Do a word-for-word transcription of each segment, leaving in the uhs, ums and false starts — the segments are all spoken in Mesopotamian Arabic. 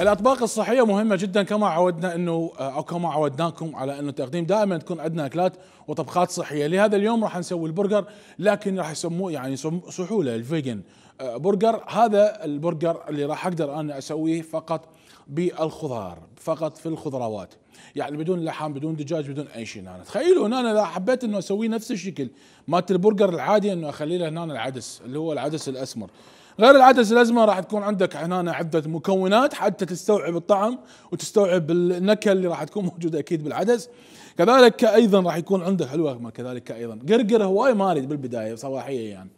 الاطباق الصحيه مهمه جدا، كما عودنا انه او كما عودناكم على انه تقديم دائما تكون عندنا اكلات وطبخات صحيه. لهذا اليوم راح نسوي البرجر، لكن راح يسموه يعني صحوا له الفيجن برجر. هذا البرجر اللي راح اقدر انا اسويه فقط بالخضار، فقط في الخضروات، يعني بدون لحم بدون دجاج بدون اي شيء. انا تخيلوا ان انا اذا حبيت انه اسويه نفس الشكل مالت البرجر العادي، انه اخلي له هنا العدس اللي هو العدس الاسمر. غير العدس الاسمر راح تكون عندك هنا عده مكونات حتى تستوعب الطعم وتستوعب النكهه اللي راح تكون موجوده اكيد بالعدس. كذلك ايضا راح يكون عندك حلوه، كذلك ايضا قرقر هواي ما اريد بالبدايه صباحيه يعني.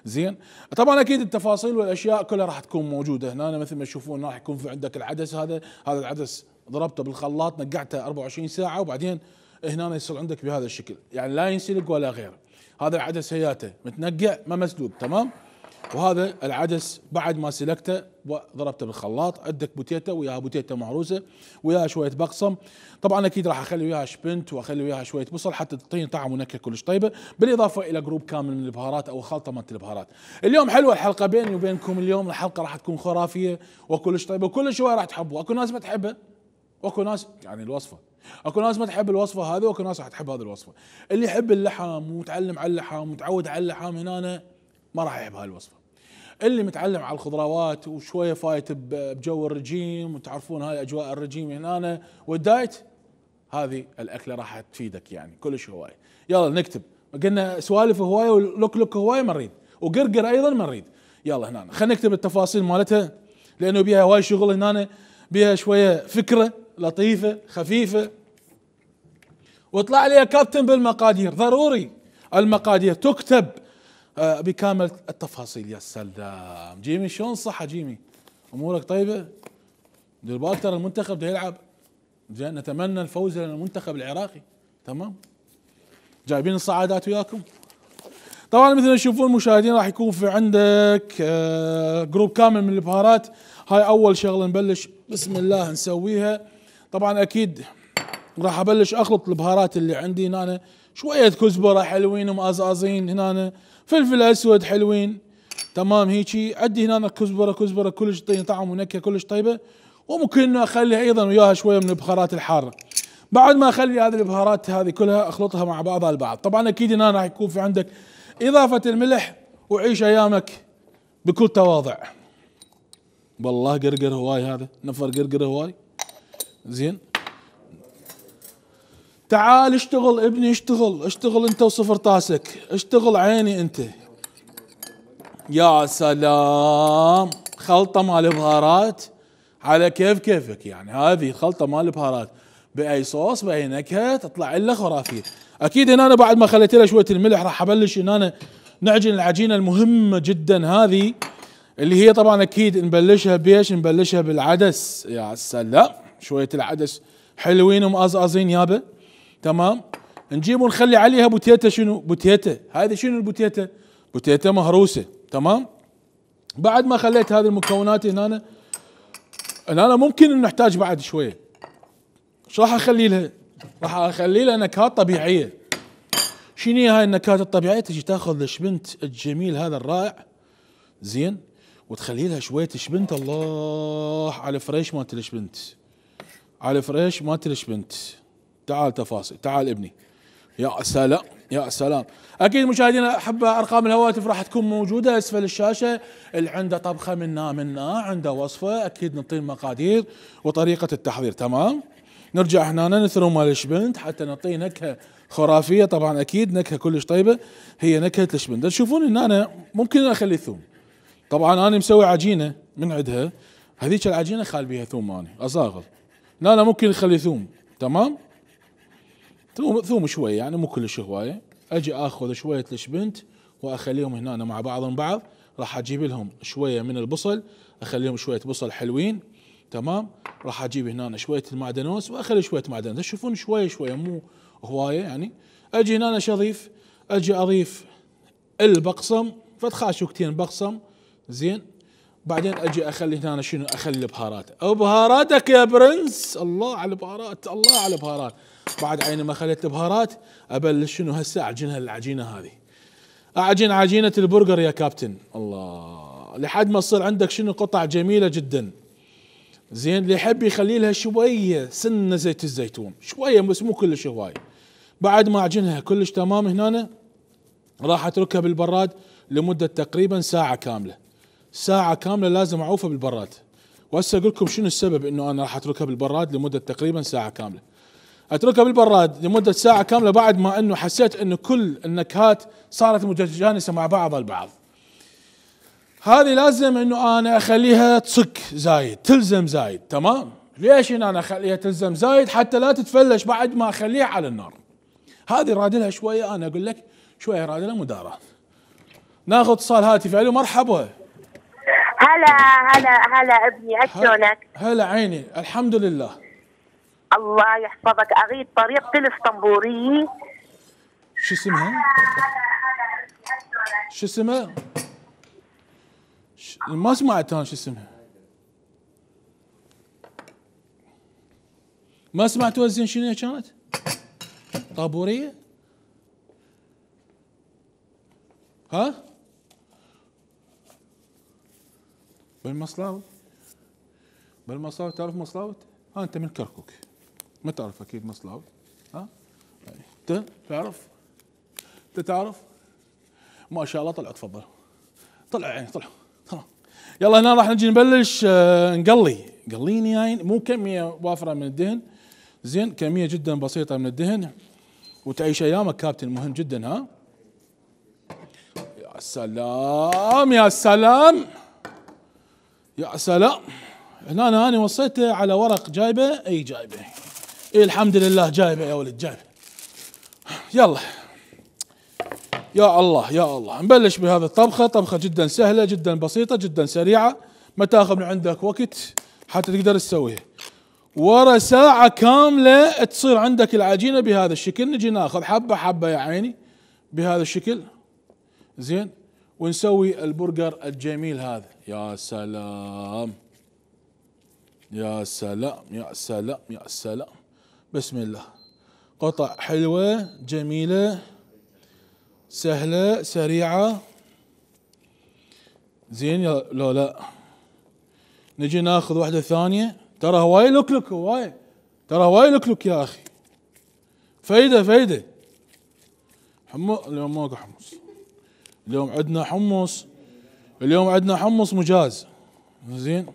زين، طبعا اكيد التفاصيل والاشياء كلها راح تكون موجوده هنا. مثل ما تشوفون راح يكون في عندك العدس هذا، هذا العدس ضربته بالخلاط نقعته أربعة وعشرين ساعه، وبعدين هنا يصير عندك بهذا الشكل، يعني لا ينسلق ولا غيره. هذا العدس هياته متنقع ما مسلوق، تمام. وهذا العدس بعد ما سلقته وضربته بالخلاط، عندك بوتيتا وياها بوتيتا مهروسه وياها شويه بقسم. طبعا اكيد راح اخلي وياها شبنت واخلي وياها شويه بصل حتى تعطيني طعم ونكهه كلش طيبه، بالاضافه الى جروب كامل من البهارات او خلطه مالت البهارات. اليوم حلوه الحلقه بيني وبينكم، اليوم الحلقه راح تكون خرافيه وكلش طيبه وكل شويه راح تحبوا. اكو ناس ما تحبها واكو ناس يعني الوصفه، اكو ناس ما تحب الوصفه هذه واكو ناس راح تحب هذه الوصفه. اللي يحب اللحم ومتعلم على اللحم ومتعود على اللحم هنا ما راح يحب هاي الوصفه. اللي متعلم على الخضروات وشويه فايت بجو الرجيم وتعرفون هاي اجواء الرجيم هنا والدايت، هذه الاكله راح تفيدك يعني كلش هواي. يلا نكتب، قلنا سوالف هواي ولوك لوك هواي ما نريد، وقرقر ايضا ما نريد. يلا هنا خلينا نكتب التفاصيل مالتها لانه بيها هواي شغل هنا، بيها شويه فكره لطيفه خفيفه. واطلع لي يا كابتن بالمقادير، ضروري المقادير تكتب بكامل التفاصيل. يا سلام جيمي، شلون صحة جيمي؟ امورك طيبة؟ دير بالك ترى المنتخب ده يلعب، زين نتمنى الفوز للمنتخب العراقي، تمام؟ جايبين الصعادات وياكم؟ طبعا مثل ما تشوفون المشاهدين راح يكون في عندك جروب كامل من البهارات. هاي اول شغلة نبلش بسم الله نسويها. طبعا اكيد راح ابلش اخلط البهارات اللي عندي هنا، شوية كزبرة حلوين ومقزقزين هنا، فلفل اسود حلوين، تمام هيجي. عندي هنا كزبره كزبره كلش تعطيني طعم ونكهه كلش طيبه. وممكن انه اخلي ايضا وياها شويه من البهارات الحاره. بعد ما اخلي هذه البهارات هذه كلها اخلطها مع بعضها البعض. طبعا اكيد هنا راح يكون في عندك اضافه الملح، وعيش ايامك بكل تواضع. والله قرقر هواي، هذا نفر قرقر هواي. زين، تعال اشتغل ابني، اشتغل اشتغل انت وصفر طاسك، اشتغل عيني انت. يا سلام، خلطة مال بهارات على كيف كيفك يعني. هذه خلطة مال بهارات باي صوص باي نكهة تطلع لها خرافية. اكيد هنا أنا بعد ما خليت لها شوية الملح راح ابلش ان انا نعجن العجينة المهمة جدا هذه، اللي هي طبعا اكيد نبلشها بيش، نبلشها بالعدس. يا سلام، شوية العدس حلوين ومقزقزين يابا، تمام. نجيب ونخلي عليها بوتيتا. شنو بوتيتا؟ هذه شنو البوتيتا؟ بوتيتا مهروسه، تمام. بعد ما خليت هذه المكونات هنا، هنا ممكن نحتاج بعد شويه. شو راح اخلي لها؟ راح اخلي لها نكهات طبيعيه. شنو هي هاي النكهات الطبيعيه؟ تجي تاخذ الشبنت الجميل هذا الرائع، زين، وتخلي لها شويه شبنت. الله على الفريش مالت الشبنت، على الفريش مالت الشبنت. تعال تفاصيل، تعال ابني. يا سلام يا سلام. اكيد مشاهدينا احبه ارقام الهواتف راح تكون موجوده اسفل الشاشه. اللي عنده طبخه منا منا عنده وصفه اكيد نعطيه المقادير وطريقه التحضير، تمام. نرجع هنا نثرم مال الشبنت حتى نعطيه نكهه خرافيه. طبعا اكيد نكهه كلش طيبه هي نكهه الشبنت. تشوفون ان انا ممكن اخلي ثوم. طبعا انا مسوي عجينه من عندها، هذيك العجينه خال بيها ثوم، انا اصاغر. لا لا ممكن نخلي ثوم، تمام. ثوم ثوم شوي يعني مو كلش هوايه. اجي اخذ شويه الشبنت واخليهم هنا مع بعضهم بعض. راح اجيب لهم شويه من البصل، اخليهم شويه بصل حلوين، تمام. راح اجيب هنا شويه المعدنوس واخلي شويه معدنوس. تشوفون شويه شويه مو هوايه يعني. اجي هنا شو اضيف؟ اجي اضيف البقسم، فد خاشوكتين بقسم، زين. بعدين اجي اخلي هنا شنو؟ اخلي البهارات. او بهاراتك يا برنس، الله على البهارات، الله على البهارات. بعد عيني ما خليت البهارات ابلش شنو هسه اعجنها العجينه هذه. اعجن عجينه البرجر يا كابتن، الله، لحد ما تصير عندك شنو؟ قطع جميله جدا، زين اللي يحب يخلي لها شويه سنه زيت الزيتون، شويه بس مو كلش هواي. بعد ما اعجنها كلش تمام هنا راح اتركها بالبراد لمده تقريبا ساعه كامله. ساعه كامله لازم اعوفها بالبراد. وهسه اقول لكم شنو السبب انه انا راح اتركها بالبراد لمده تقريبا ساعه كامله. اتركها بالبراد لمده ساعه كامله بعد ما انه حسيت انه كل النكهات صارت متجانسه مع بعض البعض. هذه لازم انه انا اخليها تصك زايد، تلزم زايد، تمام؟ ليش إن انا اخليها تلزم زايد؟ حتى لا تتفلش بعد ما اخليها على النار. هذه رادلها شويه، انا اقول لك شويه رادلها مدارات. ناخذ اتصال هاتفي. الو مرحبا. هلا هلا هلا ابني، شلونك؟ هلا عيني، الحمد لله. الله يحفظك. اريد طريقة الاسطنبورية. شو اسمها؟ شو اسمها؟ ش... ما سمعت انا شو اسمها. ما سمعتوها زين شنو هي كانت؟ طابورية؟ ها؟ بالمصلاوي؟ بالمصلاوي، تعرف مصلاوي؟ ها انت من كركوك ما تعرف اكيد مصلاوي. ها؟ انت تعرف؟ انت تعرف؟ ما شاء الله. طلع تفضل. طلع عيني طلع. طلع. يلا هنا راح نجي نبلش آه نقلي. قليني يعني مو كمية وافرة من الدهن، زين، كمية جدا بسيطة من الدهن وتعيش ايامك كابتن، مهم جدا. ها؟ يا سلام يا سلام يا سلام. هنا انا انا وصيته على ورق جايبه. اي جايبه. اي الحمد لله جايبه يا ولد جايبه. يلا يا الله يا الله. نبلش بهذه الطبخه. طبخه جدا سهله جدا بسيطه جدا سريعه، ما تاخذ من عندك وقت حتى تقدر تسويها. ورا ساعه كامله تصير عندك العجينه بهذا الشكل. نجي ناخذ حبه حبه يا عيني بهذا الشكل، زين، ونسوي البرجر الجميل هذا. يا سلام يا سلام يا سلام يا سلام. بسم الله. قطع حلوة جميلة سهلة سريعة، زين لو لا. نجي ناخذ واحدة ثانية. ترى هواي لكلك، هواي ترى هواي لكلك يا اخي. فايدة فايدة. حمص اليوم ماكو حمص. اليوم عندنا حمص. اليوم عندنا حمص مجاز، زين،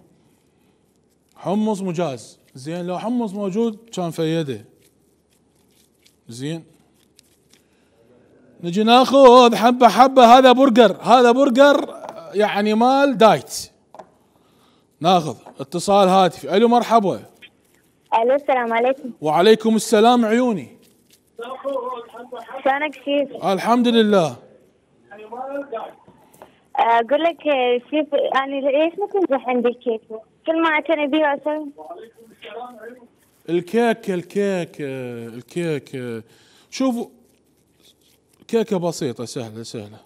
حمص مجاز، زين. لو حمص موجود كان فيده، زين. نجي ناخذ حبه حبه. هذا برجر، هذا برجر يعني مال دايت. ناخذ اتصال هاتفي. الو مرحبا. الو السلام عليكم. وعليكم السلام عيوني. شلونك شيف؟ الحمد لله. اقول لك شيف، يعني ليش ما تنجح عندي الكيك؟ كل ما اعتني بيه اسوي. الكيك الكيك الكيك شوفوا، كيكة بسيطة سهلة سهلة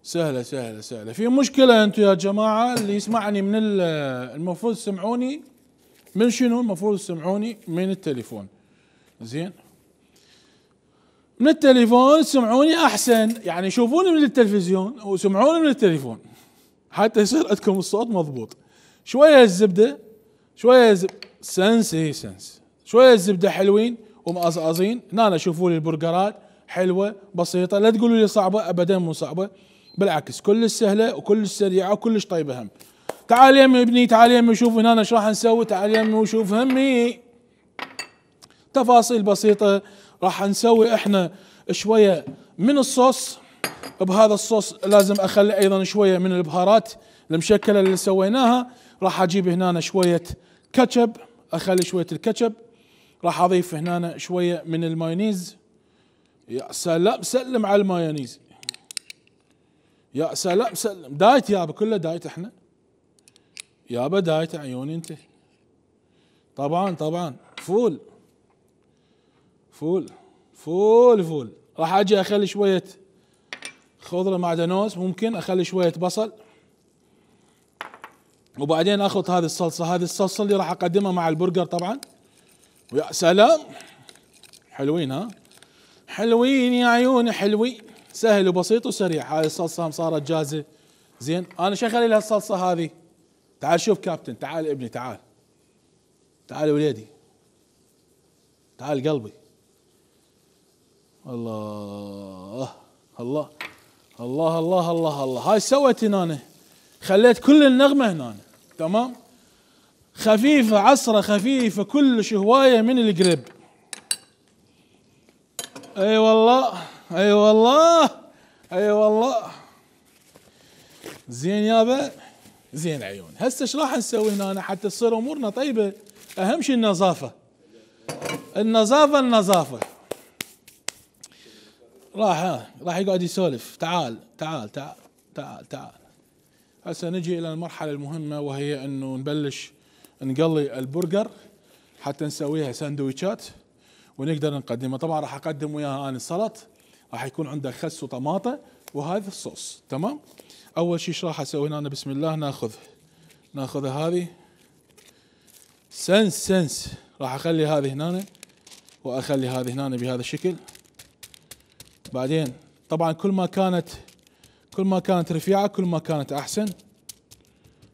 سهلة سهلة سهلة. في مشكلة انتم يا جماعة اللي يسمعني من المفروض تسمعوني من شنو؟ المفروض تسمعوني من التليفون، زين. من التليفون تسمعوني احسن، يعني شوفوني من التلفزيون وسمعوني من التليفون حتى يصير عندكم الصوت مضبوط. شوية الزبدة، شوية زب... سنس اي سنس، شوية الزبدة حلوين ومقصقصين. هنا شوفوا لي البرجرات حلوة بسيطة، لا تقولوا لي صعبة، ابدا مو صعبة، بالعكس كلش سهلة وكلش سريعة وكلش طيبة. هم تعال يمي ابني، تعال يمي شوف هنا ايش راح نسوي. تعال يمي وشوف همي تفاصيل بسيطة. راح نسوي احنا شوية من الصوص. بهذا الصوص لازم اخلي ايضا شوية من البهارات المشكلة اللي سويناها. راح اجيب هنا شوية كاتشب، اخلي شوية الكاتشب. راح اضيف هنا شوية من المايونيز. يا سلام، سلم على المايونيز. يا سلام سلم. دايت يابا، كله دايت احنا يابا، دايت عيوني انت. طبعا طبعا فول فول فول فول. راح اجي اخلي شوية خضرة معدنوس، ممكن اخلي شوية بصل، وبعدين اخذ هذه الصلصة. هذه الصلصة اللي راح اقدمها مع البرجر طبعا. ويا سلام، حلوين ها، حلوين يا عيوني، حلوين، سهل وبسيط وسريع. هذه الصلصة صارت جاهزة، زين. انا شو اخلي لها الصلصة هذه؟ تعال شوف كابتن، تعال ابني تعال تعال وليدي، تعال قلبي. الله الله الله الله الله الله. هاي سويت هنا، خليت كل النغمة هنا. تمام، خفيفة، عصرة خفيفة كلش، هواية من القرب. اي والله، اي والله، اي والله. زين يابا، زين عيون. هسه ايش راح نسوي هنا حتى تصير امورنا طيبة؟ اهم شيء النظافة، النظافة النظافة. راح راح يقعد يسولف. تعال تعال تعال تعال تعال. هسه نجي الى المرحلة المهمة، وهي انه نبلش نقلي البرجر حتى نسويها ساندويتشات ونقدر نقدمها. طبعا راح اقدم وياها انا السلط، راح يكون عندك خس وطماطة وهذا الصوص. تمام. اول شيء ايش راح اسوي هنا؟ بسم الله. ناخذ ناخذ هذه سنس سنس، راح اخلي هذه هنا واخلي هذه هنا بهذا الشكل. بعدين طبعا كل ما كانت كل ما كانت رفيعة كل ما كانت احسن.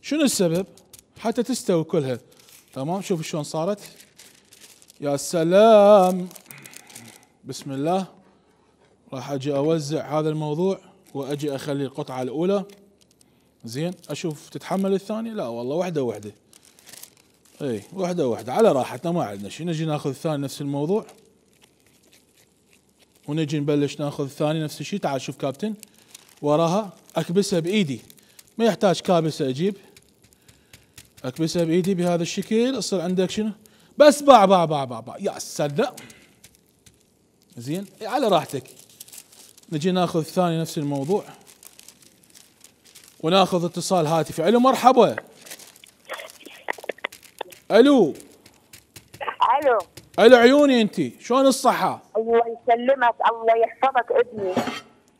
شنو السبب؟ حتى تستوي كلها. تمام. شوف شلون صارت، يا سلام. بسم الله. راح اجي اوزع هذا الموضوع واجي اخلي القطعة الاولى. زين، اشوف تتحمل الثانية؟ لا والله، وحدة وحدة. اي وحدة وحدة على راحتنا، ما عندنا شيء. نجي ناخذ الثاني نفس الموضوع، ونجي نبلش ناخذ الثاني نفس الشيء. تعال شوف كابتن، وراها اكبسها بايدي، ما يحتاج كابسة اجيب، اكبسها بايدي بهذا الشكل. يصير عندك شنو؟ بس باع باع باع باع باع. يا سلام. زين، على راحتك. نجي ناخذ الثاني نفس الموضوع، وناخذ اتصال هاتفي. الو مرحبا. الو الو الو عيوني، انتي شلون الصحة؟ الله يسلمك، الله يحفظك ابني.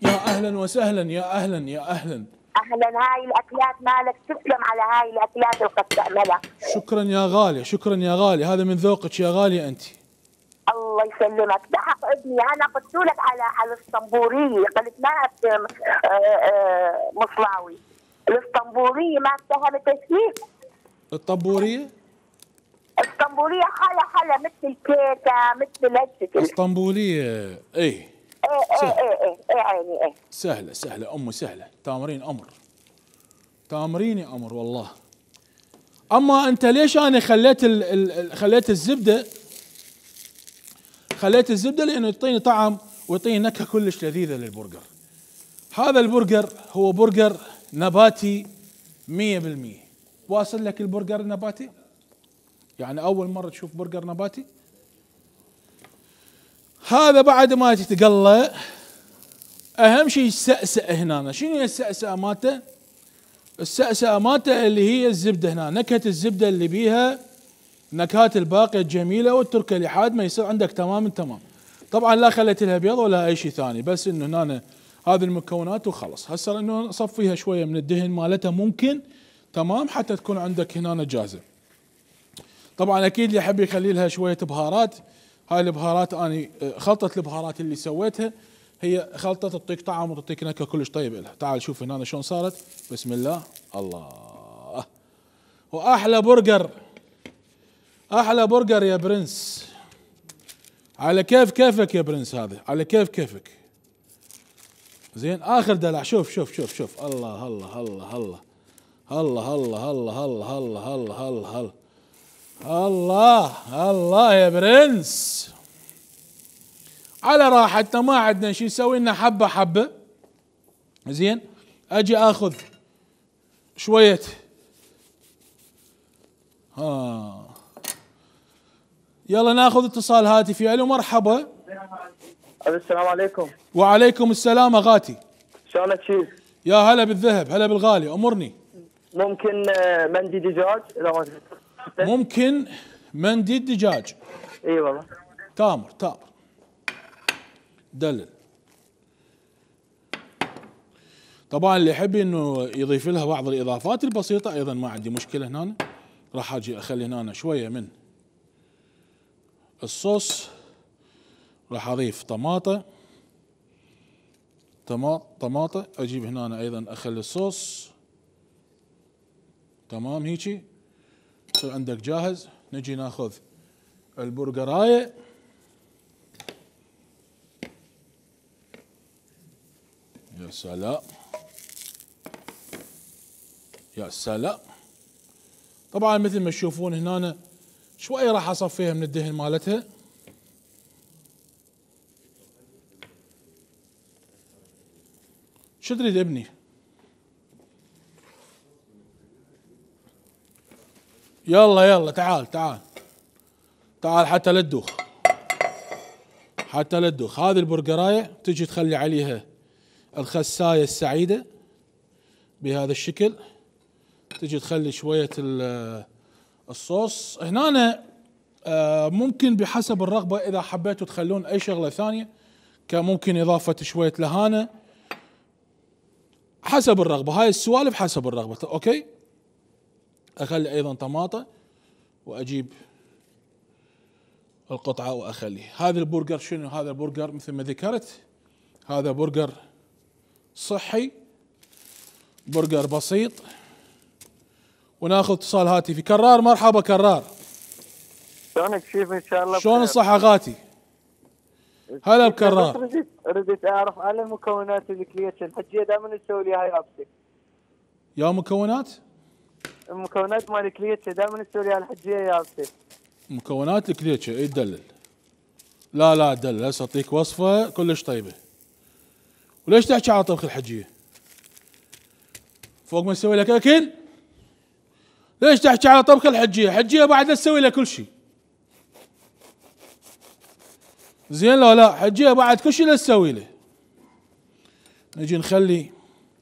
يا اهلا وسهلا، يا اهلا يا اهلا. اهلا. هاي الاكلات مالك، تسلم على هاي الاكلات اللي قد تعملها. شكرا يا غالي، شكرا يا غالي، هذا من ذوقك يا غالي انت. الله يسلمك. بحق ابني، انا قلت لك على على الاسطنبوليه، قلت ما مصلاوي. الاسطنبوليه ما اتهمت فيه. الطبورية؟ اسطنبوليه حلا حلا مثل الكيكه، مثل هالشكل. اسطنبولية اي. ايه ايه ايه ايه ايه عيني ايه. سهلة سهلة امي سهلة، تامرين امر، تامريني امر والله. اما انت ليش انا خليت ال ال خليت الزبدة خليت الزبدة لانه يعطيني طعم ويعطيني نكهة كلش لذيذة للبرجر. هذا البرجر هو برجر نباتي مية بالمية. واصل لك البرجر النباتي؟ يعني اول مرة تشوف برجر نباتي؟ هذا بعد ما تتقلى اهم شيء السأسأة هنا. شنو هي السأسأة مالته؟ السأسأة مالته اللي هي الزبدة هنا، نكهة الزبدة اللي بيها نكهات الباقية الجميلة، والتركة لحد ما يصير عندك تمام تمام. طبعا لا خليت لها بيض ولا اي شيء ثاني، بس انه هنا هذه المكونات وخلص. هسه انه نصفيها شوية من الدهن مالتها ممكن، تمام، حتى تكون عندك هنا جاهزة. طبعا اكيد اللي يحب يخلي لها شوية بهارات، هاي البهارات اني خلطة البهارات اللي سويتها هي خلطة تعطيك طعم وتعطيك نكهة كلش طيب لها. تعال شوف هنا شلون صارت. بسم الله. الله، واحلى برجر، احلى برجر يا برنس. على كيف كيفك يا برنس، هذا على كيف كيفك. زين، اخر دلع. شوف شوف شوف شوف. الله الله الله الله الله الله الله الله الله الله الله الله الله يا برنس. على راحتنا، ما عندنا شيء، نسوي لنا حبه حبه. زين، اجي اخذ شويه ها. يلا ناخذ اتصال هاتفي. الو مرحبا. السلام عليكم. وعليكم السلام اغاتي. شلونك شيف؟ يا هلا بالذهب، هلا بالغالي، امرني. ممكن مندي دجاج اذا ما تحب؟ ممكن مندي دجاج. اي والله. تامر تامر دلل. طبعا اللي يحب انه يضيف لها بعض الاضافات البسيطه ايضا ما عندي مشكله. هنا راح اجي اخلي هنا شويه من الصوص، راح اضيف طماطه طماطه اجيب هنا ايضا اخلي الصوص. تمام، هيجي يصير عندك جاهز. نجي ناخذ البرجرايه يا سلام يا سلام. طبعا مثل ما تشوفون هنا شويه راح اصفيها من الدهن مالتها. شو تريد ابني؟ يلا يلا تعال تعال تعال حتى لا تدوخ، حتى لا تدوخ. هذه البرجرايه تجي تخلي عليها الخسايه السعيده بهذا الشكل، تجي تخلي شويه الصوص هنا. ممكن بحسب الرغبه اذا حبيتوا تخلون اي شغله ثانيه كممكن اضافه شويه لهانه، حسب الرغبه. هاي السوالف حسب الرغبه. اوكي، اخلي ايضا طماطه واجيب القطعه واخلي. هذا البرجر شنو؟ هذا البرجر مثل ما ذكرت هذا برجر صحي، برجر بسيط. وناخذ اتصال هاتفي. كرار، مرحبا كرار. شلونك شيف؟ ان شاء الله شلون الصحة غاتي؟ هلا بكرار. رديت رديت اعرف على مكونات الكليتش الحجيه، دائما نسوي لي هاي يابسه. يا مكونات؟ المكونات مال الكليتش دائما نسوي لي الحجيه يابسه. مكونات الكليتش اي تدلل؟ لا لا تدلل، هسه اعطيك وصفة كلش طيبة. وليش تحكي على طبخ الحجية؟ فوق ما نسوي لك اكل؟ ليش تحكي على طبخ الحجية؟ حجية بعد تسوي لها كل شيء. زين لا لا، حجية بعد كل شيء لا تسوي له. نجي نخلي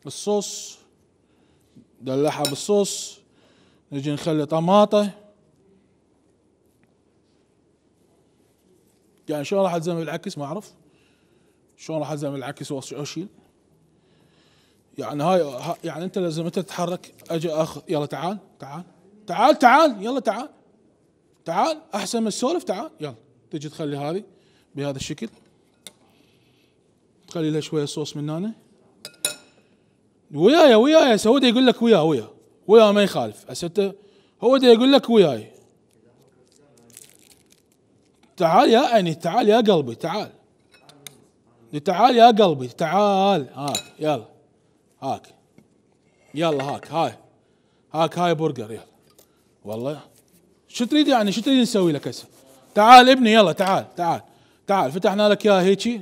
الصوص، دلعها بالصوص. نجي نخلي طماطة. يعني شلون راح الزم بالعكس؟ ما اعرف شلون راح الزم بالعكس واشيل. يعني هاي يعني انت لازم انت تتحرك. اجي اخذ، يلا تعال تعال تعال تعال يلا تعال تعال احسن من السولف. تعال يلا. تجي تخلي هذه بهذا الشكل، تخلي لها شويه صوص من هنا. وياي وياي هسه هو دا يقول لك وياه وياه وياه ما يخالف. هسه انت هو دا يقول لك وياي. تعال يا عيني، تعال يا قلبي، تعال تعال يا قلبي، تعال. هاك يلا، هاك يلا، هاك هاي هاك هاي برجر يلا. والله شو تريد يعني؟ شو تريد نسوي لك هسه؟ تعال ابني يلا، تعال تعال تعال. فتحنا لك اياها هيجي.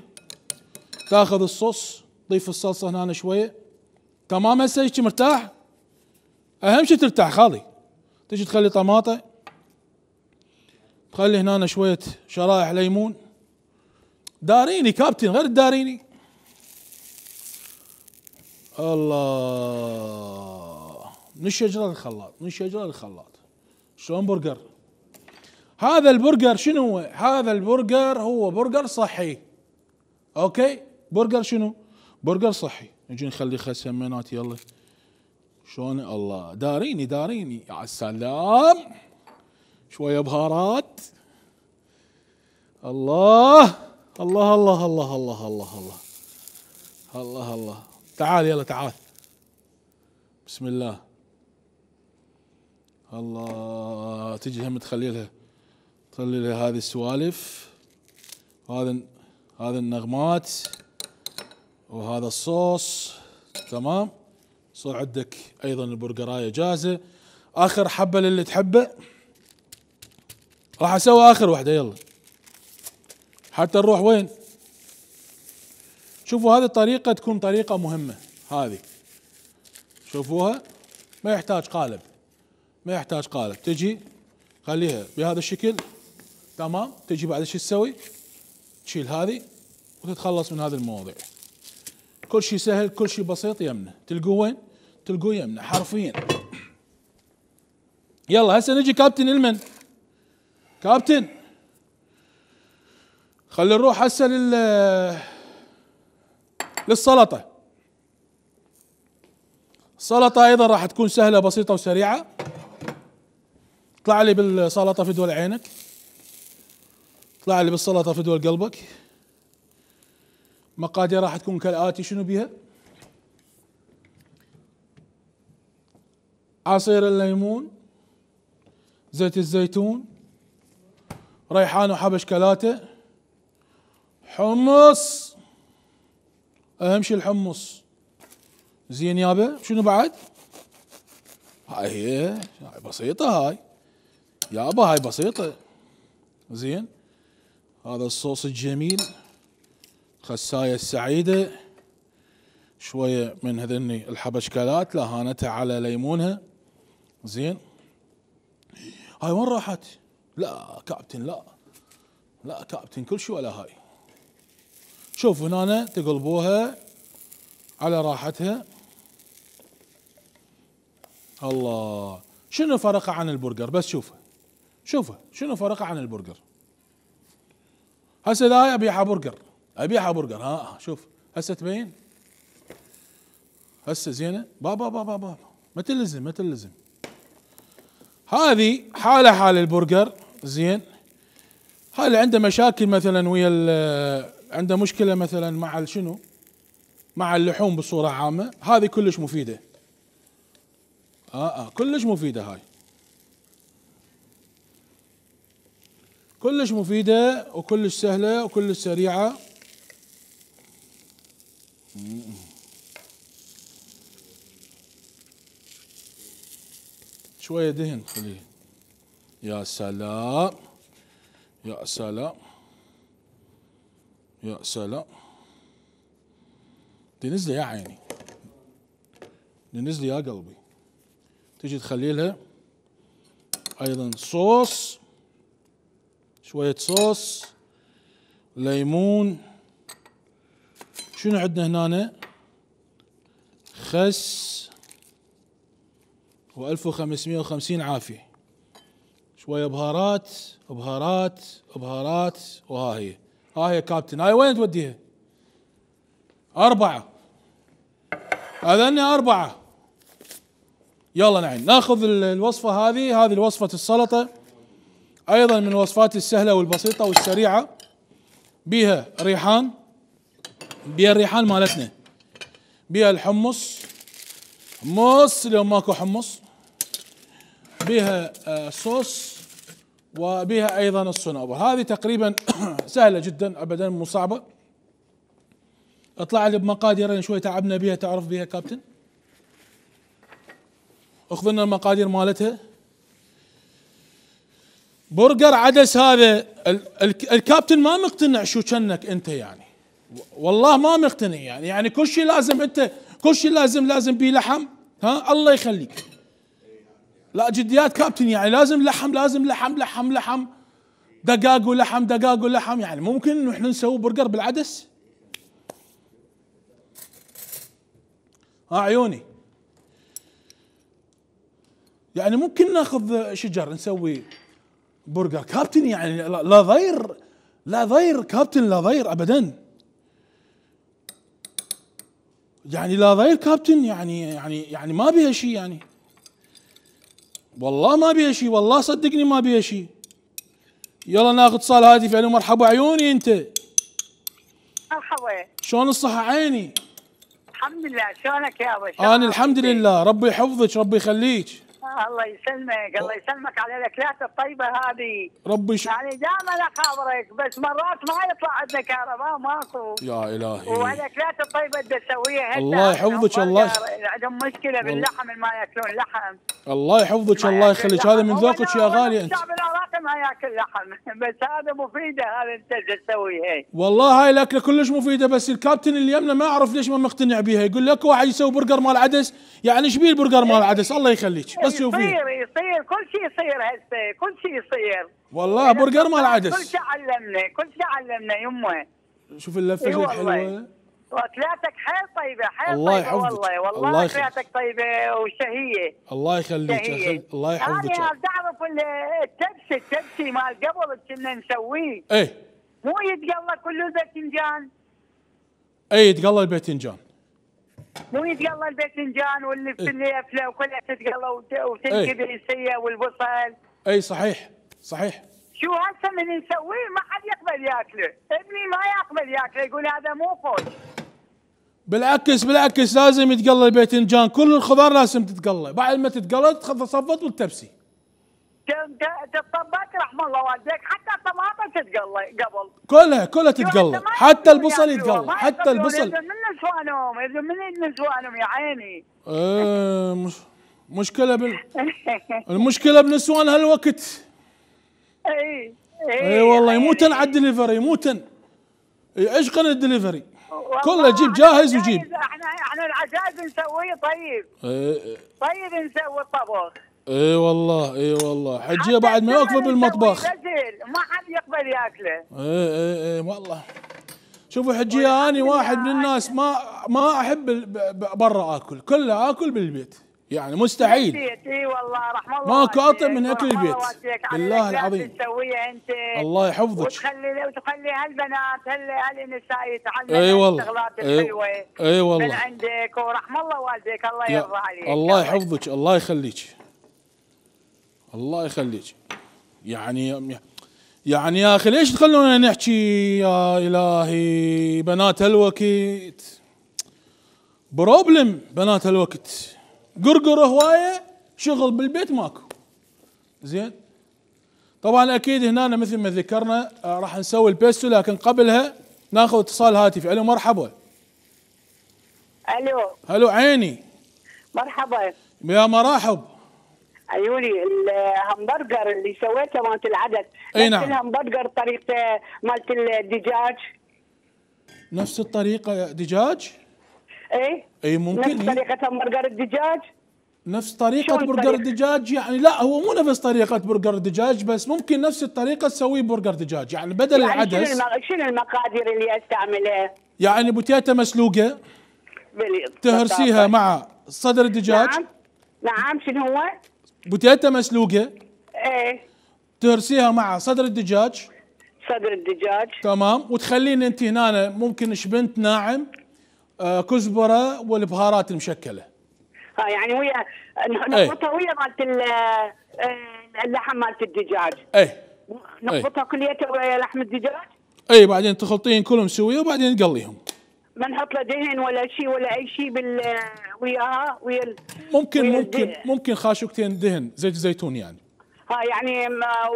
تاخذ الصوص، تضيف الصلصه هنا شويه. تمام هسه هيك مرتاح؟ اهم شيء ترتاح خالي. تجي تخلي طماطه، تخلي هنا شويه شرائح ليمون. داريني كابتن، غير الداريني. الله، من الشجره للخلاط، من الشجره للخلاط. شلون برجر؟ هذا البرجر شنو هو؟ هذا البرجر هو برجر صحي. اوكي، برجر شنو؟ برجر صحي. نجي نخلي خس سمينات يلا. شلون؟ الله، داريني داريني. يا سلام، شويه بهارات. الله الله الله الله الله الله الله الله الله. تعال يلا تعال. بسم الله. الله، تجي هم تخلي لها تخلي لها هذه السوالف، هذا هذا النغمات وهذا الصوص. تمام. صار عندك ايضا البرجرايه جاهزه. اخر حبه للي تحبه. راح اسوي اخر واحده يلا حتى نروح وين. شوفوا هذه الطريقه تكون طريقه مهمه. هذه شوفوها، ما يحتاج قالب، ما يحتاج قالب. تجي خليها بهذا الشكل. تمام. تجي بعد شو تسوي؟ تشيل هذه وتتخلص من هذه المواضيع. كل شيء سهل، كل شيء بسيط يمنا. تلقوه وين؟ تلقوه يمنا حرفيا. يلا هسه نجي كابتن المن. كابتن خلي نروح هسه لل للسلطة. السلطة ايضا راح تكون سهلة بسيطة وسريعة. اطلع لي بالسلطة في دول عينك، اطلع لي بالسلطة في دول قلبك. مقادير راح تكون كالآتي. شنو بيها؟ عصير الليمون، زيت الزيتون، ريحان وحبش كلاته، حمص، اهم شيء الحمص. زين يابا، شنو بعد؟ هاي هي، هاي بسيطة هاي يابا، هاي بسيطة. زين، هذا الصوص الجميل، خساية السعيدة، شوية من هذني الحبشكلات لهانتها على ليمونها. زين، هاي وين راحت؟ لا كابتن، لا لا كابتن، كل شيء ولا هاي. شوف هنا تقلبوها على راحتها. الله، شنو فرقه عن البرجر؟ بس شوفه شوفه شنو فرقه عن البرجر. هسه هاي ابيعها برجر، ابيعها برجر. ها شوف هسه تبين، هسه زينه. بابا بابا بابا ما تلزم ما تلزم. هذه حاله حال البرجر. زين، هاي اللي عنده مشاكل مثلا ويا، عنده مشكله مثلا مع شنو، مع اللحوم بصوره عامه، هذه كلش مفيده. اه اه كلش مفيده هاي، كلش مفيده وكلش سهله وكلش سريعه. شويه دهن خليه. يا سلام يا سلام يا سلام، تنزلي يا عيني، تنزلي يا قلبي. تجي تخلي لها ايضا صوص، شوية صوص، ليمون. شنو عندنا هنا؟ خس وألف وخمسمية وخمسين عافية. شوية بهارات بهارات بهارات. وها هي، ها هي كابتن. هاي وين توديها؟ أربعة، هذني أربعة. يلا نعين ناخذ الوصفة هذه. هذه الوصفة السلطة، أيضا من الوصفات السهلة والبسيطة والسريعة. بيها ريحان، بيها الريحان مالتنا، بيها الحمص، حمص اليوم ماكو حمص، بيها آه صوص، وبيها أيضا الصنوبر. هذه تقريبا سهلة جدا أبدا، مو صعبة. اطلع لي بمقادير شوي تعبنا بيها، تعرف بيها كابتن. اخذ لنا المقادير مالتها. برجر عدس. هذا الكابتن ما مقتنع شو كنك انت يعني، والله ما مقتنع يعني. يعني كل شيء لازم انت، كل شيء لازم لازم بيه لحم. ها الله يخليك، لا جديات كابتن، يعني لازم لحم لازم لحم لحم لحم، دقاق ولحم دقاق ولحم. يعني ممكن انه احنا نسوي برجر بالعدس؟ ها عيوني، يعني ممكن ناخذ شجر نسوي برجر كابتن؟ يعني لا ضير، لا ضير كابتن، لا ضير ابدا، يعني لا ضير كابتن. يعني يعني يعني ما بيها شيء يعني، والله ما بيها شيء، والله صدقني ما بيها شيء. يلا ناخذ اتصال هاتفي. الو مرحبا عيوني. انت مرحبا، شلون الصحة عيني؟ الحمد لله. شلونك يا ابو؟ انا الحمد لله، ربي يحفظك ربي يخليك. الله يسلمك، الله يسلمك على الاكلات الطيبه هذه. ربي ش... يعني دائما اخابرك، بس مرات ما يطلع عندنا كهرباء، ماكو. يا الهي، والاكلات الطيبه اللي تسويها الله يحفظك. الله عندهم مشكله باللحم، ما ياكلون لحم. الله يحفظك الله يخليك، هذا من ذوقك يا غالي. انت الشعب العراقي ما ياكل لحم، بس هذا مفيده، هذا انت اللي تسويها. والله هاي الاكله كلش مفيده، بس الكابتن اللي يمنا ما اعرف ليش ما مقتنع بيها. يقول لك واحد يسوي برجر مال عدس، يعني ايش بيه البرجر مال عدس؟ الله يخليك بس شوفيه. يصير يصير كل شيء يصير هسه، كل شيء يصير والله برجر مال عدس. كل شيء علمنا، كل شيء علمنا يمه. شوف اللفه زي الحلوه، واكلاتك حيل طيبه، حيل الله طيبه يحفظك. والله، والله الله اكلاتك طيبه وشهيه. الله يخليك شهية. الله يحفظك. انا تعرف التبسي، التبسي مال قبل كنا نسويه، ايه مو يتقلى كله الباذنجان. ايه يتقلى الباذنجان، مو يتقلى الباذنجان واللي في الليفله وكلها تتقلى وتنكبسيه والبصل. اي صحيح صحيح. شو هسه من نسويه ما حد يقبل ياكله، ابني ما يقبل ياكله، يقول هذا مو خوش. بالعكس بالعكس، لازم يتقلى الباذنجان، كل الخضار لازم تتقلى، بعد ما تتقلى تصفط والتبسي. الطبات رحم الله والديك، حتى الطماطم تتقلى قبل. كلها كلها تتقلى، حتى البصل يتقلى، حتى البصل. يريدون من نسوانهم، يريدون من نسوانهم يا عيني. ايه مش مشكلة بال المشكلة بنسوان هالوقت. اي اي والله يموتن على الدليفري، يموتن يعشقن الدليفري، كله جيب جاهز وجيب. احنا احنا العجاز نسويه طيب. ايه طيب نسوي الطبخ. اي والله اي والله حجيه بعد ما يوقفوا بالمطبخ ما حد يقبل ياكله. اي اي اي والله. شوفوا حجيه اني واحد من الناس ما ما احب برا اكل، كله اكل بالبيت، يعني مستحيل. اي والله رحم الله ماكو اطيب من اكل البيت بالله العظيم. تسويها انت الله يحفظك. وتخلي وتخلي هالبنات هالنساء يتعلموا اي والله الشغلات الحلوه اي والله من عندك، ورحم الله والديك الله يرضى عليك. الله يحفظك الله يخليك الله يخليك. يعني يعني يا اخي ليش تخلونا نحكي يا الهي؟ بنات هالوقت بروبلم، بنات هالوقت قرقر هوايه، شغل بالبيت ماكو. زين طبعا اكيد هنا مثل ما ذكرنا راح نسوي البيستو، لكن قبلها ناخذ اتصال هاتفي. الو مرحبا. الو الو عيني. مرحبا يا مرحب. عيوني الهمبرجر اللي سويته مالت العدد، اي نعم. الهمبرجر طريقته مالت الدجاج نفس الطريقه دجاج؟ ايه اي ممكن. نفس طريقه همبرجر الدجاج، نفس طريقة برجر الدجاج يعني؟ لا هو مو نفس طريقة برجر الدجاج، بس ممكن نفس الطريقة تسويه برجر دجاج، يعني بدل يعني العدس. شنو شنو المقادير اللي استعملها؟ يعني بوتيتا مسلوقة تهرسيها مع صدر الدجاج. نعم نعم شنو هو؟ بوتيتا مسلوقة ايه تهرسيها مع صدر الدجاج. صدر الدجاج تمام. وتخلين انت هنا ممكن شبنت ناعم، آه كزبرة والبهارات المشكلة. ها يعني ويا نخلطها ويا مالت اللحم مالت الدجاج. ايه نخلطها كليتها ويا لحم الدجاج. اي بعدين تخلطين كلهم سويه وبعدين تقليهم. ما نحط له دهن ولا شيء ولا اي شيء بال وياها ويا ال... ممكن ويا ممكن الدهن. ممكن خاشوقتين دهن زيت زيتون يعني. ها يعني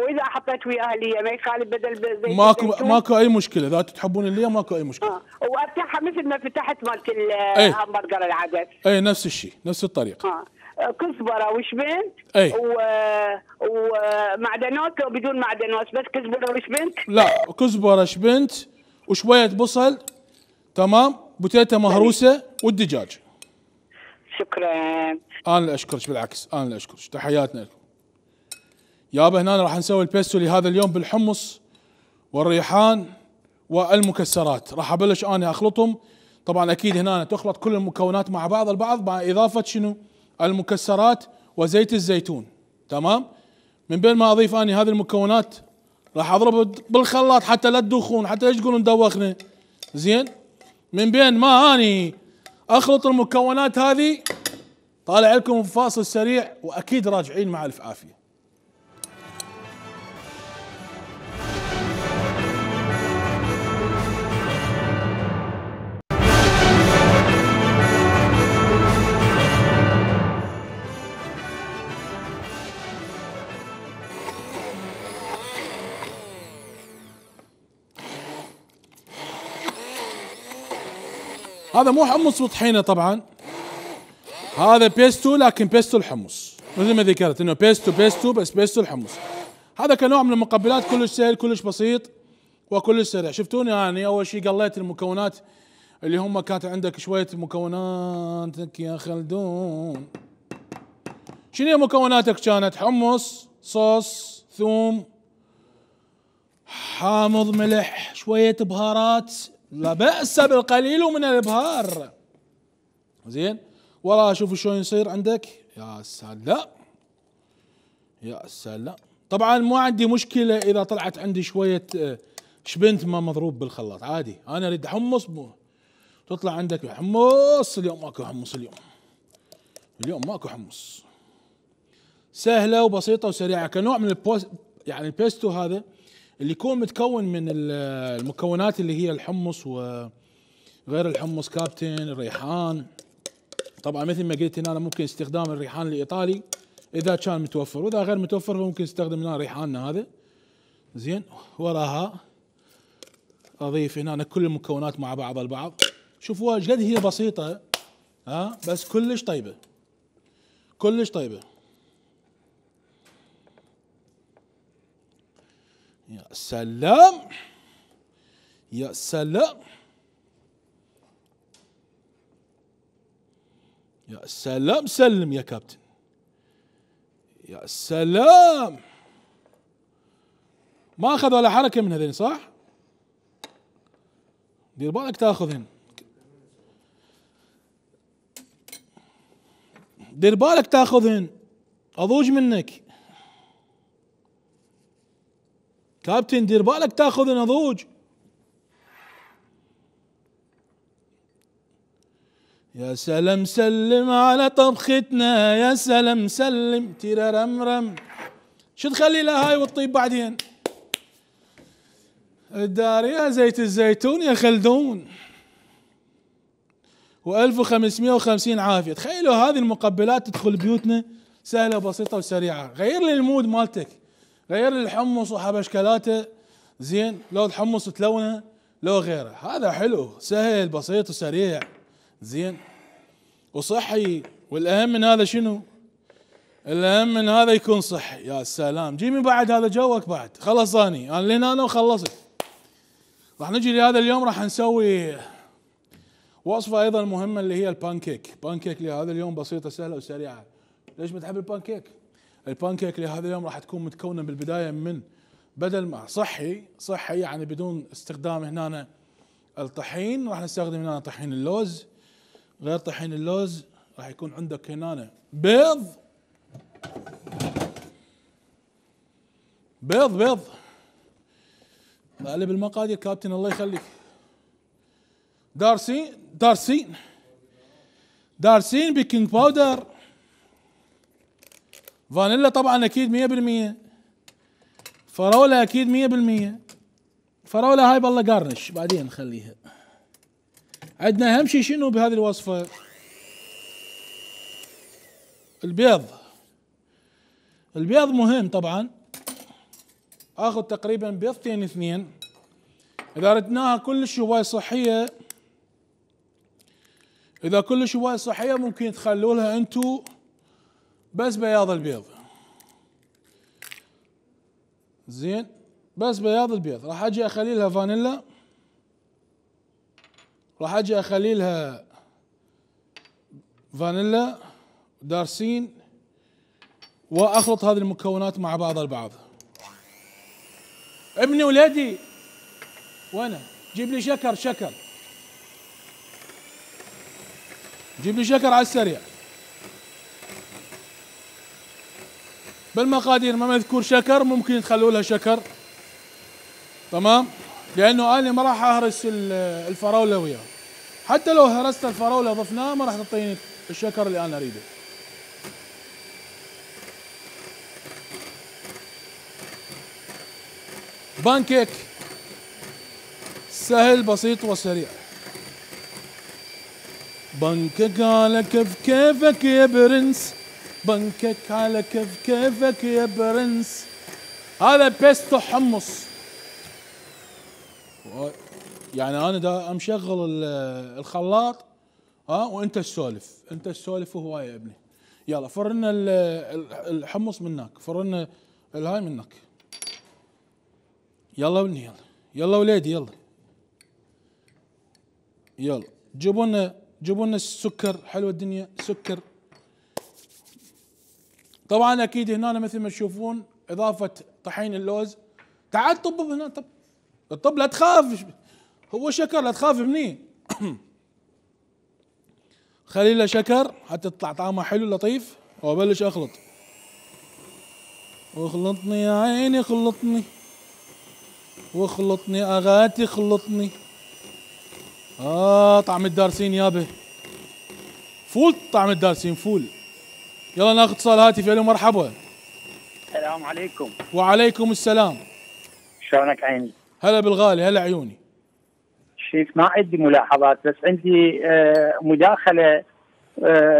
واذا حطيت وياها اللي ما يخالف بدل زيت ماكو الزيتون. ماكو اي مشكله، اذا تحبون اللي ماكو اي مشكله. ها وافتحها مثل ما فتحت مالت ايه. الهمبرجر العدس. اي نفس الشيء نفس الطريقه. ها كزبره وشبنت. اي و... ومعدنوس لو بدون معدنوس بس كزبره وشبنت. لا كزبره شبنت وشويه بصل. تمام. بوتيتا مهروسه والدجاج. شكرا. انا اللي اشكرك، بالعكس انا اللي اشكرك، تحياتنا لكم. يابا هنا راح نسوي البيستو لهذا اليوم بالحمص والريحان والمكسرات. راح ابلش انا اخلطهم. طبعا اكيد هنا تخلط كل المكونات مع بعض البعض مع اضافه شنو؟ المكسرات وزيت الزيتون. تمام. من بين ما اضيف اني هذه المكونات راح اضرب بالخلاط حتى لا تدوخون، حتى ايش تقولون دوخنا. زين. من بين ما اني اخلط المكونات هذه طالع لكم فاصل سريع واكيد راجعين مع الف عافيه. هذا مو حمص وطحينه طبعا، هذا بيستو، لكن بيستو الحمص مثل ما ذكرت انه بيستو بيستو بس بيستو الحمص. هذا كنوع من المقبلات كلش سهل كلش بسيط وكلش سريع. شفتوني يعني اول شيء قليت المكونات اللي هم كانت عندك شويه مكوناتك يا خلدون. شنو مكوناتك؟ كانت حمص، صوص، ثوم، حامض، ملح، شويه بهارات، لا بأس بالقليل من الابهار. زين. والله شوفوا شلون يصير عندك. يا سلام يا سلام. طبعا ما عندي مشكله اذا طلعت عندي شويه شبنت ما مضروب بالخلاط، عادي. انا اريد حمص مو تطلع عندك حمص. اليوم ماكو حمص، اليوم اليوم ماكو حمص. سهله وبسيطه وسريعه كنوع من البوست. يعني البيستو هذا اللي يكون متكون من المكونات اللي هي الحمص وغير الحمص، كابتن، الريحان. طبعا مثل ما قلت هنا ممكن استخدام الريحان الايطالي اذا كان متوفر، واذا غير متوفر فممكن نستخدم هنا ريحاننا هذا. زين، وراها اضيف هنا كل المكونات مع بعض البعض. شوفوا ايش قد هي بسيطه، ها بس كلش طيبه، كلش طيبه. يا سلام يا سلام يا سلام، سلم يا كابتن، يا سلام. ما اخذ ولا حركه من هذين، صح؟ دير بالك تاخذهن، دير بالك تاخذهن، اضوج منك كابتن، دير بالك تاخذهن اضوج. يا سلام سلم على طبختنا، يا سلام سلم تيررمرم. شو تخلي لها هاي وتطيب بعدين؟ الدارية زيت الزيتون يا خلدون، وألف وخمسمية وخمسين عافية. تخيلوا هذه المقبلات تدخل بيوتنا سهلة وبسيطة وسريعة. غير لي المود مالتك، غير لي الحمص وحبشكلاته، زين، لو الحمص تلونه لو غيره، هذا حلو سهل بسيط وسريع، زين وصحي. والاهم من هذا شنو؟ الاهم من هذا يكون صحي. يا سلام، جيبي بعد هذا جوك بعد، خلص اني انا لين انا وخلصت. راح نجي لهذا اليوم راح نسوي وصفه ايضا مهمه اللي هي البانكيك. بانكيك لهذا اليوم بسيطه سهله وسريعه. ليش بتحب البانكيك؟ البانكيك لهذا اليوم راح تكون متكونه بالبدايه من، بدل ما صحي صحي يعني بدون استخدام هنا الطحين، راح نستخدم هنا طحين اللوز. غير طحين اللوز راح يكون عندك هنا بيض، بيض بيض. قلب المقادير كابتن الله يخليك. دارسين دارسين دارسين بيكنج باودر، فانيلا طبعا اكيد مية بالمية، فراولة اكيد مية بالمية. فراولة هاي بالله قارنش بعدين نخليها. عندنا اهم شيء شنو بهذه الوصفة؟ البيض. البيض مهم طبعا. اخذ تقريبا بيضتين اثنين. اذا ردناها كلش هواي صحية، اذا كلش هواي صحية ممكن تخلوا لها انتو بس بياض البيض، زين، بس بياض البيض. راح اجي اخلي لها فانيلا، راح اجي اخلي لها فانيلا دارسين، واخلط هذه المكونات مع بعض البعض. ابني ولادي وانا جيب لي شكر، شكر جيب لي شكر على السريع. بالمقادير ما مذكور شكر، ممكن تخلوا لها شكر، تمام، لانه انا ما راح اهرس الفراوله وياه. حتى لو هرست الفراوله ضفناها ما راح تعطيني الشكر اللي انا اريده. بانكيك سهل بسيط وسريع. بانكيك على كيف كيفك يا برنس، بانكيك على كيف كيفك يا برنس. هذا بيستو حمص، يعني انا دا مشغل الخلاط، ها، وانت تسولف، انت تسولف وهواي يا ابني. يلا فرنا الحمص منك، فرنا الهاي منك. يلا ابني، يلا يلا وليدي، يلا يلا جيبوا لنا جيبوا لنا السكر. حلوه الدنيا، سكر طبعا اكيد هنا مثل ما تشوفون اضافه طحين اللوز. تعال طب هنا، طب طب لا تخاف، هو شكر لا تخاف مني. خلي له شكر حتى تطلع طعمه حلو لطيف. وابلش اخلط، واخلطني يا عيني خلطني، واخلطني اغاتي خلطني. اه طعم الدارسين يابه، فول طعم الدارسين فول. يلا ناخذ اتصال هاتفي. الو مرحبا. السلام عليكم. وعليكم السلام. شلونك عيني؟ هلا بالغالي، هلا عيوني. شيف ما عندي ملاحظات، بس عندي آه مداخله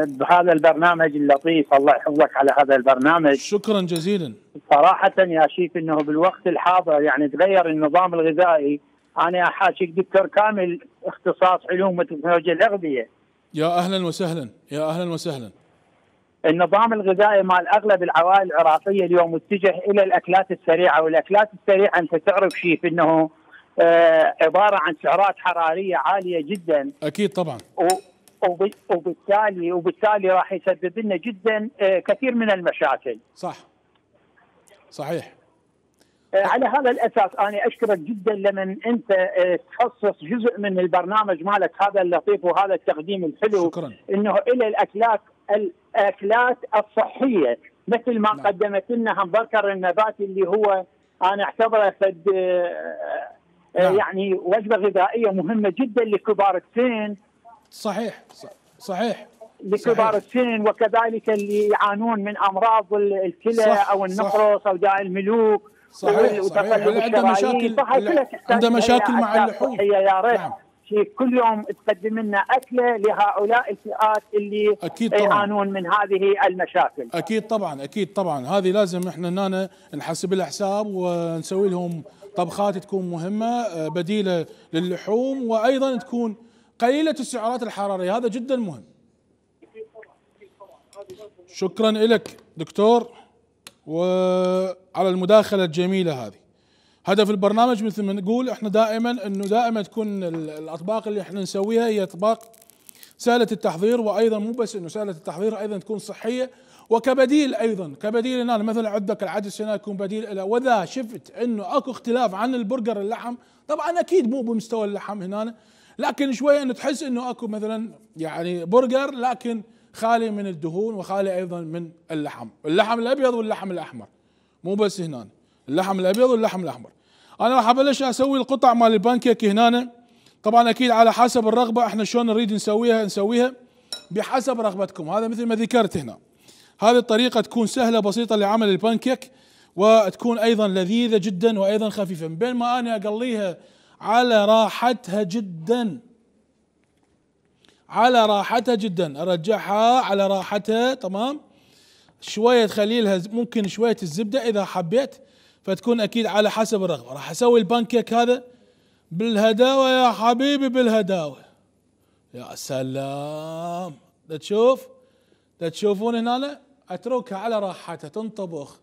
بهذا البرنامج اللطيف. الله يحفظك على هذا البرنامج. شكرا جزيلا. صراحة يا شيف انه بالوقت الحاضر يعني تغير النظام الغذائي. انا احاكيك دكتور كامل اختصاص علوم وتكنولوجيا الاغذية. يا اهلا وسهلا يا اهلا وسهلا. النظام الغذائي مال اغلب العوائل العراقية اليوم متجه الى الاكلات السريعة، والاكلات السريعة انت تعرف شيف انه آه عبارة عن سعرات حرارية عالية جدا. اكيد طبعا. و وبالتالي وبالتالي راح يسبب لنا جدا كثير من المشاكل. صح صحيح. على هذا الاساس انا اشكرك جدا لمن انت تخصص جزء من البرنامج مالك هذا اللطيف وهذا التقديم الحلو. شكرا. انه الى الاكلات الاكلات الصحيه مثل ما نعم. قدمت لنا همبرجر النباتي اللي هو انا اعتبره فد نعم. يعني وجبه غذائيه مهمه جدا لكبار السن. صحيح صحيح لكبار السن وكذلك اللي يعانون من امراض الكلى او النقرس او داء الملوك. صحيح صحيح. اللي عنده مشاكل عنده مشاكل مع اللحوم. يا ريت نعم. كل يوم تقدم لنا اكله لهؤلاء الفئات اللي يعانون من هذه المشاكل. اكيد طبعا اكيد طبعا. هذه لازم احنا هنا نحسب لها حساب ونسوي لهم طبخات تكون مهمه بديله للحوم، وايضا تكون قليلة السعرات الحرارية. هذا جدا مهم. شكرا لك دكتور وعلى المداخلة الجميلة هذه. هدف البرنامج مثل ما نقول احنا دائما انه دائما تكون الاطباق اللي احنا نسويها هي اطباق سهلة التحضير، وايضا مو بس انه سهلة التحضير، ايضا تكون صحية وكبديل. ايضا كبديل هنا مثلا عندك العدس هنا يكون بديل له. واذا شفت انه اكو اختلاف عن البرجر اللحم، طبعا اكيد مو بمستوى اللحم هنا، لكن شويه انه تحس انه اكو مثلا يعني برجر لكن خالي من الدهون وخالي ايضا من اللحم، اللحم الابيض واللحم الاحمر، مو بس هنا اللحم الابيض واللحم الاحمر. انا راح ابلش اسوي القطع مال البانكيك هنا. طبعا اكيد على حسب الرغبه احنا شلون نريد نسويها نسويها بحسب رغبتكم. هذا مثل ما ذكرت هنا، هذه الطريقه تكون سهله بسيطه لعمل البانكيك، وتكون ايضا لذيذه جدا وايضا خفيفه. من بين ما انا اقليها على راحتها جدا، على راحتها جدا، ارجعها على راحتها تمام. شويه تخلي لها ممكن شويه الزبده اذا حبيت، فتكون اكيد على حسب الرغبه. راح اسوي البانكيك هذا بالهداوه يا حبيبي، بالهداوه. يا سلام. تشوف تشوفون هنا اتركها على راحتها تنطبخ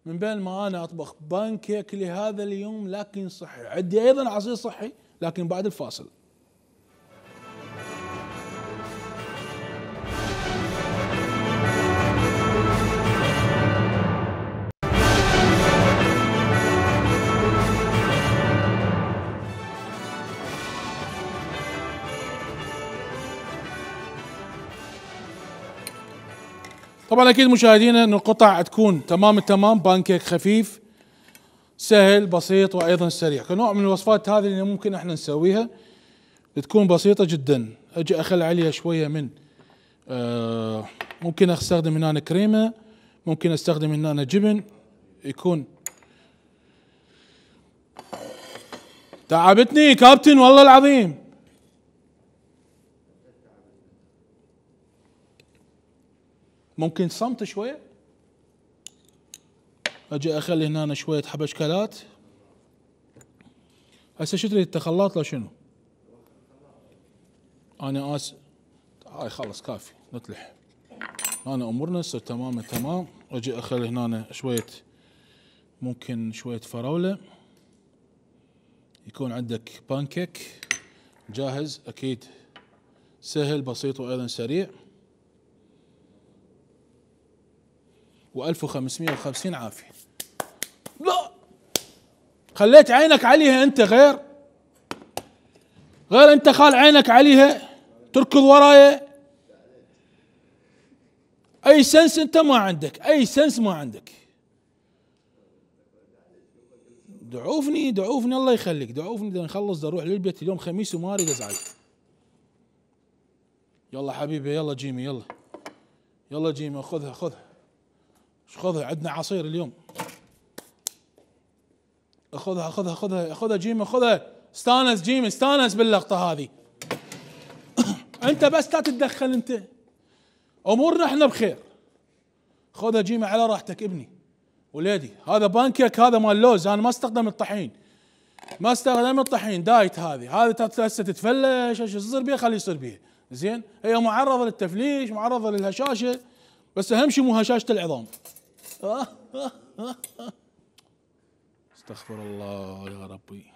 من بين ما انا اطبخ بانكيك لهذا اليوم لكن صحي. عندي ايضا عصير صحي لكن بعد الفاصل. طبعا اكيد مشاهدينا ان القطع تكون تمام التمام، بانكيك خفيف سهل بسيط وايضا سريع. كنوع من الوصفات هذه اللي ممكن احنا نسويها تكون بسيطه جدا. اجي اخلي عليها شويه من آه ممكن استخدم هنا كريمه، ممكن استخدم هنا جبن يكون. تعبتني كابتن والله العظيم. ممكن صمت شويه. اجي اخلي هنا شويه حبشكلات. هسه شو تريد تخلط له شنو؟ انا اسف هاي خلص كافي نطلع. انا امورنا تصير تمام تمام. اجي اخلي هنا شويه ممكن شويه فراوله، يكون عندك بانكيك جاهز اكيد سهل بسيط وايضا سريع. وألف وخمسمئة وخمسين عافية. لا خليت عينك عليها انت، غير غير انت خال عينك عليها تركض ورايا. اي سنس انت ما عندك، اي سنس ما عندك. دعوفني دعوفني الله يخليك، دعوفني بدنا نخلص، بدي اروح للبيت اليوم خميس وما اريد ازعل. يلا حبيبي يلا جيمي يلا يلا جيمي خذها خذها خذها، عندنا عصير اليوم. خذها خذها خذها خذها جيمي خذها. استانس جيمي استانس باللقطة هذه. انت بس لا تتدخل انت. امورنا احنا بخير. خذها جيمه على راحتك ابني وليدي. هذا بانكيك، هذا مال لوز، انا ما استخدم الطحين، ما استخدم الطحين، دايت. هذه هذه هسه تتفلش، ايش يصير بيها خليه يصير بيها. زين، هي معرضه للتفليش، معرضه للهشاشه، بس اهم شيء مو هشاشه العظام. استغفر الله يا ربي.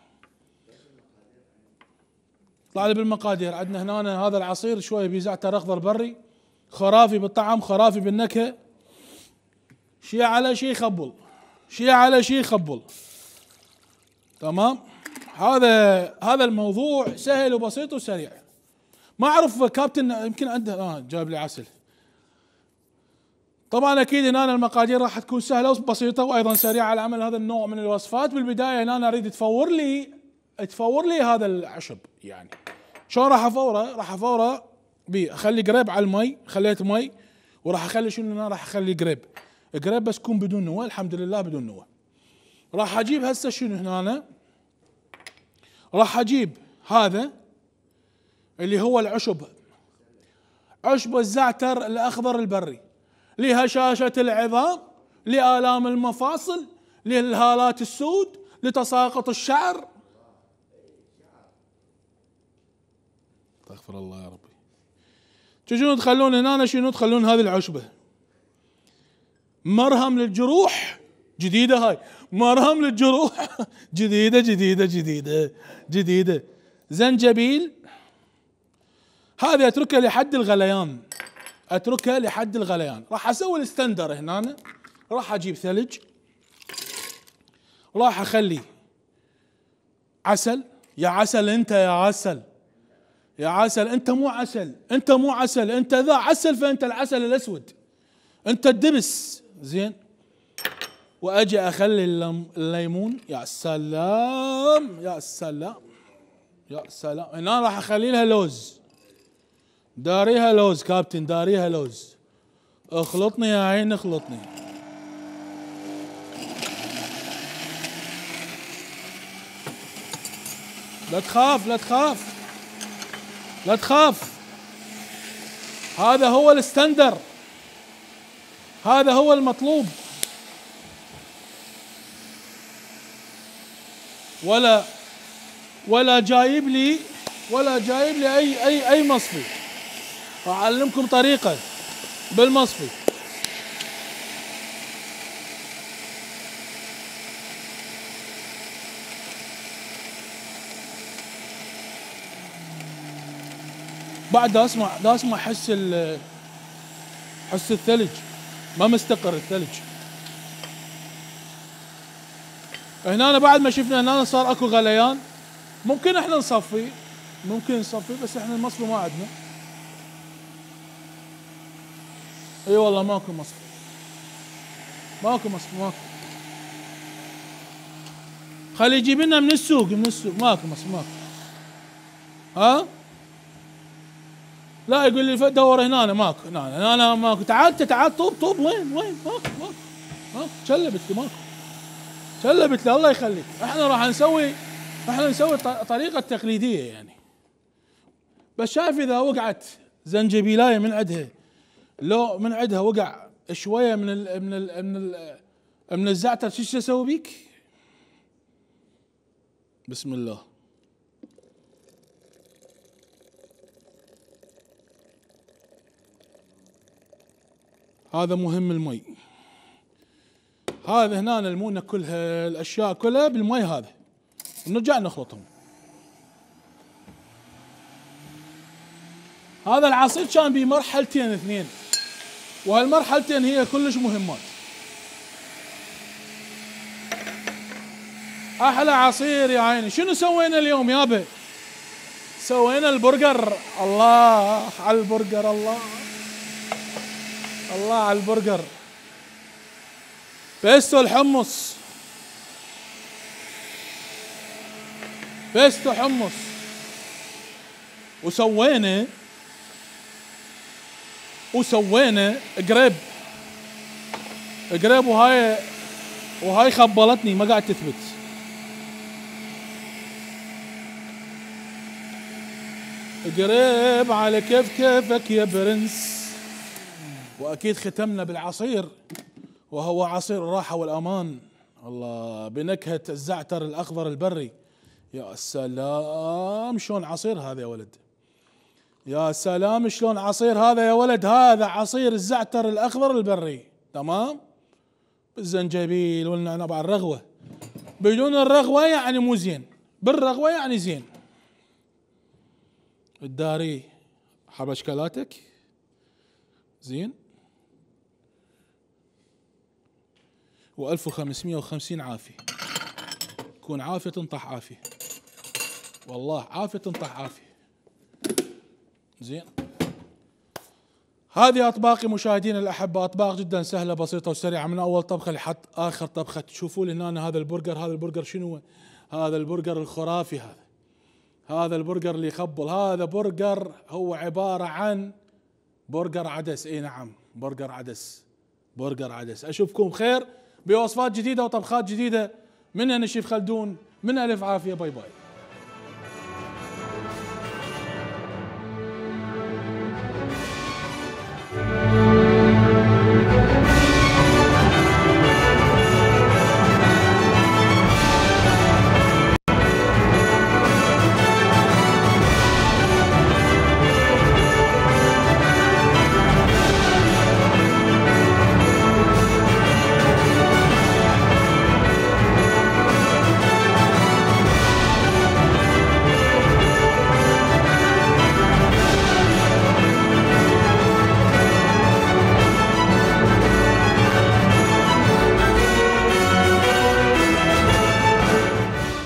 طلع لي بالمقادير. عندنا هنا هذا العصير شويه بيه زعتر اخضر بري، خرافي بالطعم، خرافي بالنكهه، شي على شي خبل، شي على شي خبل. تمام. هذا هذا الموضوع سهل وبسيط وسريع. ما اعرف كابتن يمكن عنده اه جاب لي عسل. طبعا اكيد هنا المقادير راح تكون سهله وبسيطه وايضا سريعه على عمل هذا النوع من الوصفات. بالبدايه هنا أنا اريد تفور لي تفور لي هذا العشب. يعني شلون راح افوره؟ راح افوره بي اخلي قريب على المي، خليت مي وراح اخلي شنو هنا، راح اخلي قريب قريب بس يكون بدون نوى. الحمد لله بدون نوى. راح اجيب هسه شنو هنا أنا؟ راح اجيب هذا اللي هو العشب، عشب الزعتر الاخضر البري، لهشاشة العظام، لآلام المفاصل، للهالات السود، لتساقط الشعر. استغفر الله يا ربي. تجون تخلون هنا شنو؟ تخلون هذه العشبة مرهم للجروح، جديدة هاي، مرهم للجروح جديدة جديدة جديدة جديدة. زنجبيل، هذه اتركها لحد الغليان، اتركها لحد الغليان. راح اسوي الستندر هنا. راح اجيب ثلج، راح اخلي عسل. يا عسل انت، يا عسل، يا عسل انت مو عسل، انت مو عسل، انت ذا عسل، فانت العسل الاسود، انت الدبس. زين. واجي اخلي الليمون. يا سلام يا سلام يا سلام. هنا راح اخلي لها لوز، داريها لوز كابتن، داريها لوز. اخلطني يا عين اخلطني. لا تخاف لا تخاف لا تخاف. هذا هو الستاندر، هذا هو المطلوب. ولا ولا جايب لي ولا جايب لي اي اي اي مصفي. اعلمكم طريقة بالمصفي. بعد دا اسمع دا اسمع حس ال حس الثلج، ما مستقر الثلج. هنا بعد ما شفنا هنا صار اكو غليان، ممكن احنا نصفي، ممكن نصفي، بس احنا المصفي ما عندنا. اي والله ماكو مصفي، ماكو مصفي، ماكو. خلي يجيب لنا من السوق، من السوق ماكو مصفي، ماكو. ها؟ لا يقول لي دور هنا، أنا ماكو، هنا هنا ماكو. تعال تعال طوب طوب، وين وين؟ ماكو ماكو ماكو. شلبت لي، ماكو شلبت لي. الله يخليك. احنا راح نسوي احنا نسوي طريقة تقليدية يعني. بس شايف اذا وقعت زنجبيلاية من عندها، لو من عندها وقع شوية من ال من ال من ال من الزعتر، شو اسوي بيك؟ بسم الله. هذا مهم المي. هذا هنا المونة كلها، الاشياء كلها بالمي هذا، ونرجع نخلطهم. هذا العصير كان بمرحلتين اثنين، وهالمرحلتين هي كلش مهمات. احلى عصير يا عيني. شنو سوينا اليوم يابا؟ سوينا البرجر. الله على البرجر، الله الله على البرجر. بيستو الحمص، بيستو حمص. وسوينا وسوينا قريب قريب وهاي وهاي خبلتني ما قاعد تثبت. قريب على كيف كيفك يا برنس. واكيد ختمنا بالعصير وهو عصير الراحة والامان، الله بنكهة الزعتر الاخضر البري. يا سلام شلون عصير هذا يا ولد، يا سلام شلون عصير هذا يا ولد، هذا عصير الزعتر الاخضر البري، تمام، بالزنجبيل والنعناع مع الرغوة، بدون الرغوة يعني مو زين، بالرغوة يعني زين. الداري حبشكلاتك زين، وألف وخمسمية وخمسين عافية، كون عافية تنطح عافية، والله عافية تنطح عافية. زين، هذه أطباقي مشاهدينا الأحبة، أطباق جدا سهلة بسيطة وسريعة، من أول طبخة لحد آخر طبخة. تشوفوا لي هنا هذا البرجر، هذا البرجر شنو هو؟ هذا البرجر الخرافي، هذا هذا البرجر اللي يخبل، هذا برجر هو عبارة عن برجر عدس. اي نعم، برجر عدس، برجر عدس. اشوفكم بخير بوصفات جديدة وطبخات جديدة من انا شيف خلدون، من الف عافية، باي باي.